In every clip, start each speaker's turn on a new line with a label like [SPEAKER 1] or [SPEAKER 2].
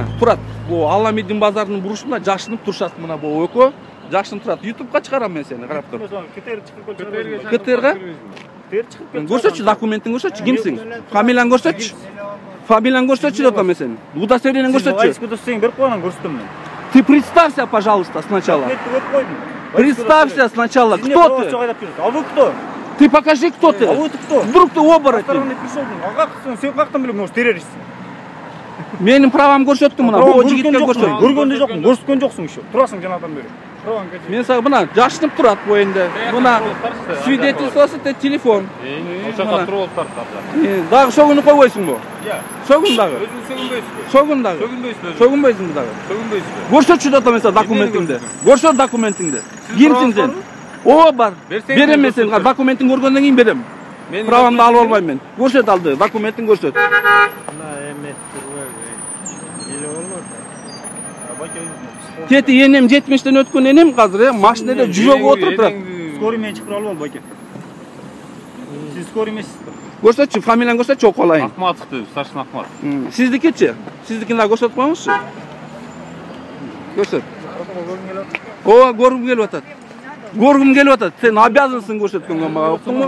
[SPEAKER 1] мына турат. Бу Аламидин базарынын бурушунда жашынып турушат мына бу экөө. Жашынып турат. YouTube'га чыгарам мен сени, карап тур.
[SPEAKER 2] КТР чыгып келчү.
[SPEAKER 1] КТРга?
[SPEAKER 2] КТР чыгып келчү.
[SPEAKER 1] Көрсөтчү, документин көрсөтчү, кимсиң? Фамилияң көрсөтчү. Фамилияң көрсөтчү деп атам мен сени. Удостоверениең көрсөтчү.
[SPEAKER 2] Айску досуң берип койгон, көрсөтөм мен.
[SPEAKER 1] Ты представься, пожалуйста, сначала. Представься сначала. Кто ты?
[SPEAKER 2] А вы кто?
[SPEAKER 1] Ты покажи, кто ты.
[SPEAKER 2] А вы кто?
[SPEAKER 1] Вдруг ты оборотень.
[SPEAKER 2] А как сен каяктан билем, может, террорист?
[SPEAKER 1] Менин правам көрсөттүм мына. Бул жигитке көрсөт.
[SPEAKER 2] Көргөндө жокмун, көрсөткөн жоксуң еще. Турасың жанагыдан бери.
[SPEAKER 1] Мен сага мына жашынып турат бу энди. Мына свидетельствосы телефон.
[SPEAKER 3] Ошондо туруп алыптыр.
[SPEAKER 1] Дагы сөгүнүп койбойсуңбу?
[SPEAKER 3] Сөгүн
[SPEAKER 1] дагы.
[SPEAKER 3] Өзүң сөгүнбөйсүңбү?
[SPEAKER 1] Сөгүн дагы. Сөгүнбөйсүңбү дагы?
[SPEAKER 3] Сөгүнбөйсүңбү?
[SPEAKER 1] Көрсөтчү деп атам мен сага документиңди. Көрсөт документиңди. Кимсиң сен? Ооба бар. Берем мен сени. Документиң көргөндөн кийин берем. Правамды алып албайм мен. Көрсөт алды. Документиң көрсөт. Тети энем 70тен өткөн энем азыр машинада жүрөгү отуруп турат.
[SPEAKER 2] Скорый менен чыгып алып байке. Сиз скорый эмессизби?
[SPEAKER 1] Көрсөтчү, фамилияң көрсөтчү, окуп алайын.
[SPEAKER 3] Акматов деп, старшина Акматов.
[SPEAKER 1] Сиздикичи? Сиздикин дагы көрсөтүп коюңузчу. Көрсөт. Ооба, көргүм келип атат. Көргүм келип атат. Сен обязансың көрсөткөнгө, мага уктуңбу?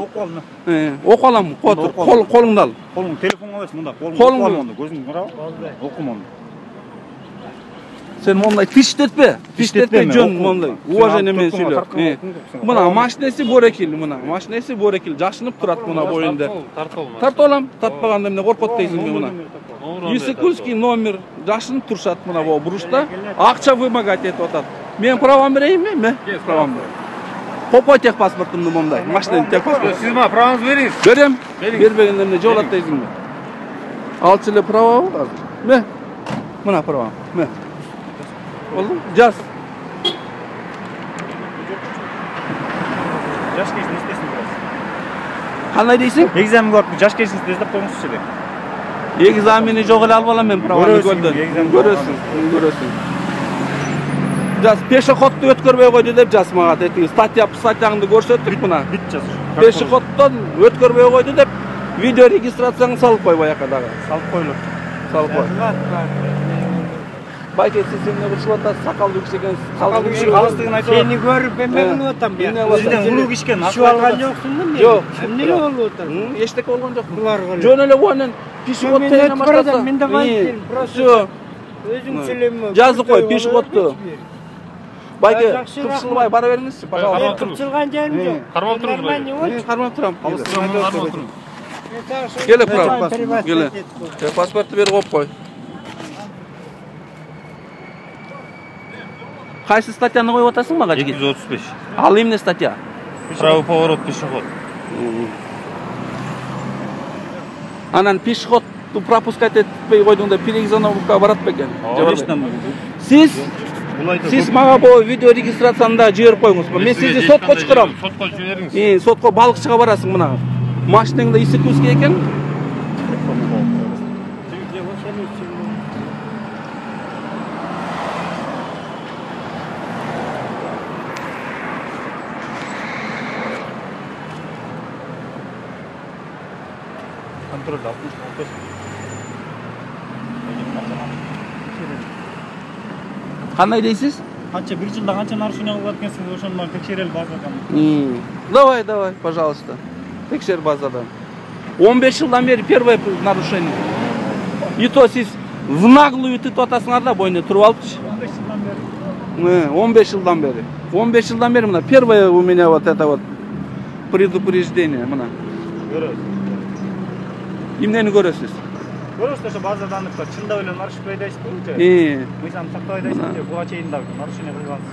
[SPEAKER 1] Окуп алам, колуңду ал.
[SPEAKER 2] Колуң телефонго аласың мында. Колуңду көзүңдү карап. Окумон.
[SPEAKER 1] Сен мондай тиштетпе. Тиштетпе жөн мондай. Уважение менен сүйлө. Мына машинеси борекил, мына. Машинеси борекил, жашынып турат мына боюнда. Тартып алам. Тартпаганда эмне коркот дейсиңби мына. Исыкульский номер жашынып турушат мына бу бурушта. Акча вымогать этип атат. Мен правам берейинби? Мен правам берем. Копой техпаспортумду мондай. Машинанын техпаспорту.
[SPEAKER 3] Сиз мага праваңызды бериңиз.
[SPEAKER 1] Берем. Бербегенде эмне жолат дейсиңби? Алчу эле правабы азыр. Мен. Мына правам. Мен. Oldu? Jaz.
[SPEAKER 2] Жаш кезин эстесиң biraz.
[SPEAKER 1] Кандай дейсиң?
[SPEAKER 2] Экзамен көрүп, жаш кезин эстеп коюңузчу деп.
[SPEAKER 1] Экзамени жок эле алып алам мен праваны көрдүм. Көрөсүң. Жаз пешеходду өткөрбөй койду деп жаз мага тетиги статьяңды көрсөттүк мына.
[SPEAKER 2] Бит жаз.
[SPEAKER 1] Пешеходдон өткөрбөй койду деп видео регистрацияңды салып кой баяка дагы.
[SPEAKER 2] Салып койлуп.
[SPEAKER 1] Салып кой. Байке сиз эмне кылышып атасыз? Сакалдуу киши экенсиз. Сакалдуу киши алыстыгын айтып
[SPEAKER 4] Сени көрүп эмне атам я.
[SPEAKER 2] Сизден улуу кишкен
[SPEAKER 4] Шу алган жоксуңбу мен?
[SPEAKER 1] Жок.
[SPEAKER 4] Эмне болуп атат?
[SPEAKER 1] Эчтеке болгон жок.
[SPEAKER 4] Булар кылып.
[SPEAKER 1] Жөн эле буанын пешеход тегине баштаса.
[SPEAKER 4] Мен да байкем.
[SPEAKER 1] Всё.
[SPEAKER 4] Өзүң сүйлөмө.
[SPEAKER 1] Жазып кой пешеходду. Байке, кыпчылбай бара бериңизчи, пожалуйста.
[SPEAKER 4] Кыпчылган жерим жок.
[SPEAKER 3] Кармап туруңуз.
[SPEAKER 1] Кармап турам.
[SPEAKER 3] Кармап туруңуз.
[SPEAKER 1] Келе прав. Келе. Паспорту берип коюп кой. Кайсы статьяны коюп атасың мага жигит?
[SPEAKER 3] 235.
[SPEAKER 1] Ал эмне статья?
[SPEAKER 3] Правый поворот пешеход.
[SPEAKER 1] Анан пешеходду пропускать этпей койдуң деп переэкзоновка барат бекен. Сиз мага бу видео регистрацияны да жиберип коюңуз. Мен сизди сотко чыгарам.
[SPEAKER 3] Сотко жибериңиз.
[SPEAKER 1] Сотко балыкчыга барасың мына. Машинаңда Исыкульский экен.
[SPEAKER 2] Контроль алып.
[SPEAKER 1] Кандай дейсиз?
[SPEAKER 2] Канча бир жылда канча нарушение кылып аткансыз, ошону менен текшерели базадан.
[SPEAKER 1] Давай, пожалуйста. Текшер базадан. 15 жылдан бери первое нарушение. И то сиз в наглую тытып атасыңар да бойна туруп алыпчы. 15 жылдан бери. 15 жылдан бери мына первое у меня вот это вот предупреждение мына.
[SPEAKER 2] Көрөсүз.
[SPEAKER 1] Эмнени көрөсүз?
[SPEAKER 2] Көрөсүз ошо базадан чындап эле нарушение айдайсызбы? Мыйзам сактап айдайсызбы? Буга чейин дагы нарушение кылгансыз.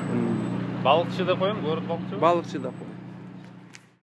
[SPEAKER 3] Балыкчы деп коем, город балыкчы.
[SPEAKER 1] Балыкчы деп.